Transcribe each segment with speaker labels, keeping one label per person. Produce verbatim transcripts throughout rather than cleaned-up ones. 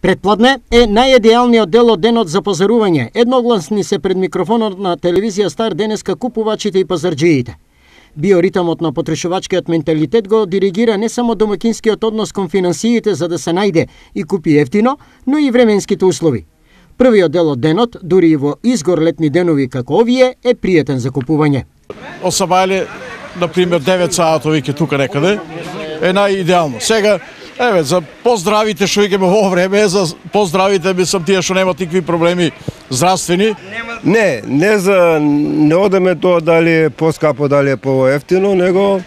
Speaker 1: Предпладне е најидеалниот дел од денот за пазарување. Едногласни се пред микрофонот на телевизија Стар денеска купувачите и пазарџиите. Биоритамот на потрошувачкиот менталитет го диригира не само домакинскиот однос кон финансиите за да се најде и купи ефтино, но и временските услови. Првиот дел од денот, дури и во изгор летни денови како овие, е пријатен за купување.
Speaker 2: Осабајле, например, девет саато веќе тука некаде, е најидеално. Сега, еве, за поздравите што игаме во време, за поздравите мислам тие што немат никакви проблеми здравствени.
Speaker 3: Не, не за не одеме тоа дали е поскапо, дали е поевтино, него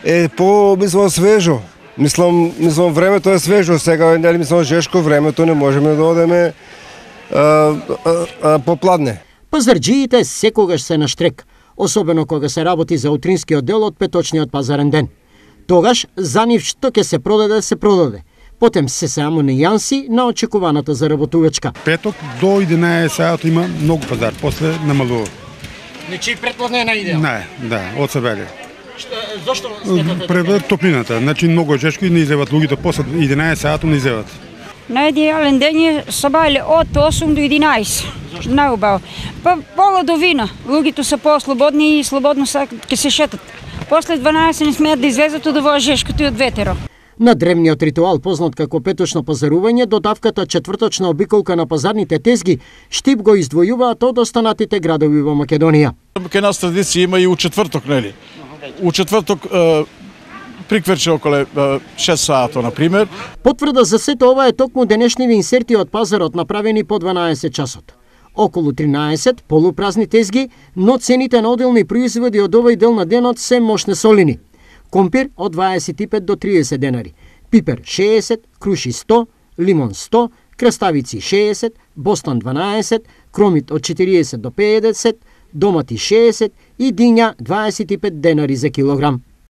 Speaker 3: е по мислам свежо. Мислам, мислам времето е свежо, сега нели мислам жешко времето не можеме да одеме а, а, а, попладне.
Speaker 1: Пазарџиите секогаш се на штрек, особено кога се работи за утринскиот дел од петочниот пазарен ден. Тогаш за нив што ќе се продаде, се продаде. Потем се само нејанси на очекуваната заработувачка.
Speaker 4: Петок до единаесет саат има многу пазар, после намалува.
Speaker 1: Значи предпладне на идеал?
Speaker 4: Не, да, од себе.
Speaker 1: Зошто сметате?
Speaker 4: Пред топлината, значи многу жешко и не излезат луѓето после единаесет саат не излезат.
Speaker 5: Најидеален ден е сабајле од осум до единаесет. Најубаво. Па пола до вина. Луѓето се по-слободни и слободно ќе се шетат. После дванаесет не смеат да излезат од овој жешкото и од ветеро.
Speaker 1: На древниот ритуал познат како петочно пазарување, додавката четврточна обиколка на пазарните тезги, Штип го издвојуваат од останатите градови во Македонија.
Speaker 2: Ке нас традиција има и у четврток, нели? У четврток е, приквече околе шест саато, например.
Speaker 1: Потврда за сето ова е токму денешниви инсерти од пазарот направени по дванаесет часот. Околу тринаесет полупразни тезги, но цените на оделни производи од овој дел на денот се мошне солини. Компир од дваесет и пет до триесет денари, пипер шеесет, круши сто, лимон сто, краставици шеесет, бостон дванаесет, кромит од четириесет до педесет, домати шеесет и диња дваесет и пет денари за килограм.